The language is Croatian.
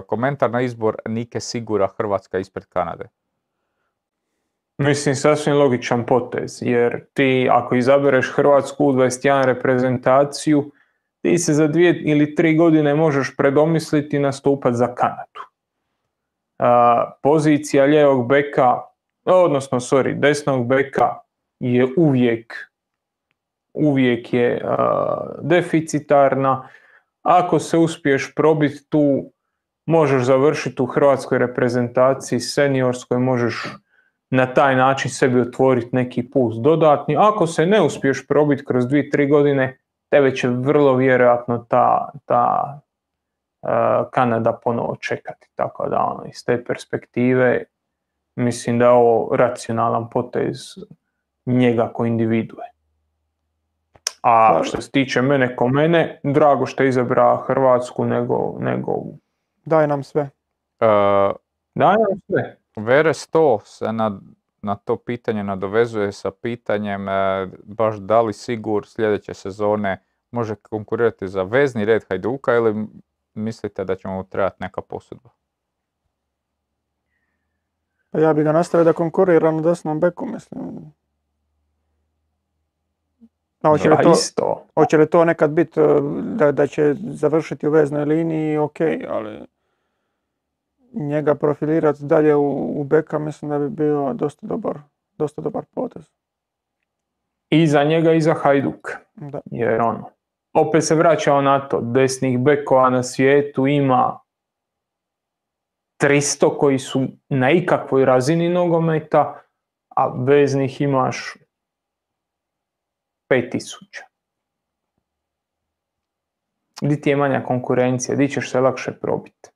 Komentar na izbor Nike Sigura, Hrvatska ispred Kanade. Mislim, sasvim logičan potez, jer ti ako izabereš Hrvatsku U21 reprezentaciju, ti se za 2 ili 3 godine možeš predomisliti i nastupati za Kanadu. Pozicija lijevog beka, desnog beka je uvijek je deficitarna. Ako se uspiješ probiti tu, možeš završiti u hrvatskoj reprezentaciji seniorskoj, možeš na taj način sebi otvoriti neki puls dodatni. Ako se ne uspiješ probiti kroz 2-3 godine, tebe će vrlo vjerojatno ta Kanada ponovo čekati. Tako da iz te perspektive mislim da je ovo racionalan potez njega ko individue. A što se tiče mene, drago što je izabrao Hrvatsku nego Daj nam sve. Daj nam sve. Vere 100 se na to pitanje nadovezuje sa pitanjem baš da li Sigur sljedeće sezone može konkurirati za vezni red Hajduka ili mislite da će mu trebati neka posudba? Ja bi ga nastavio da konkurira na desnom beku, mislim. Hoće li to nekad biti da će završiti u veznoj liniji, ok, ali njega profilirati dalje u beka mislim da bi bio dosta dobar potez. I za njega i za Hajduk. Da. Jer opet se vraćao na to, desnih bekova na svijetu ima 300 koji su na ikakvoj razini nogometa, a veznih imaš 5000. Di ti je manja konkurencija, di ćeš se lakše probiti.